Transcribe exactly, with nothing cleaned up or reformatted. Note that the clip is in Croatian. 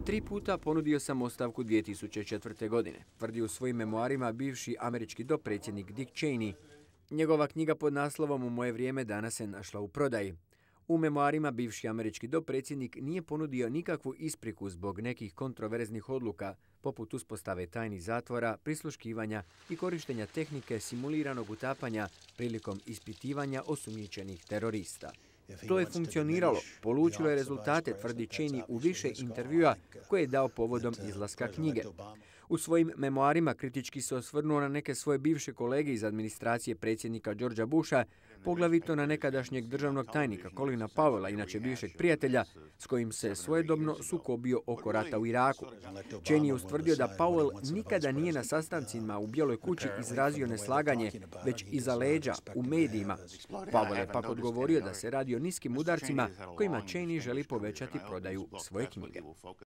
Tri puta ponudio sam ostavku dvije tisuće četvrte. godine, tvrdi u svojim memoarima bivši američki dopredsjednik Dick Cheney. Njegova knjiga pod naslovom U moje vrijeme danas se našla u prodaji. U memoarima bivši američki dopredsjednik nije ponudio nikakvu ispriku zbog nekih kontroverznih odluka, poput uspostave tajnih zatvora, prisluškivanja i korištenja tehnike simuliranog utapanja prilikom ispitivanja osumnjičenih terorista. To je funkcioniralo, polučilo je rezultate, tvrdi Cheney u više intervjua koje je dao povodom izlaska knjige. U svojim memoarima kritički se osvrnuo na neke svoje bivše kolege iz administracije predsjednika Georgea Busha, poglavito na nekadašnjeg državnog tajnika Colina Powella, inače bivšeg prijatelja, s kojim se svojedobno sukobio oko rata u Iraku. Cheney je ustvrdio da Powell nikada nije na sastancima u Bijeloj kući izrazio neslaganje, već iza leđa, u medijima. Powell je pak odgovorio da se radi o niskim udarcima kojima Cheney želi povećati prodaju svoje knjige.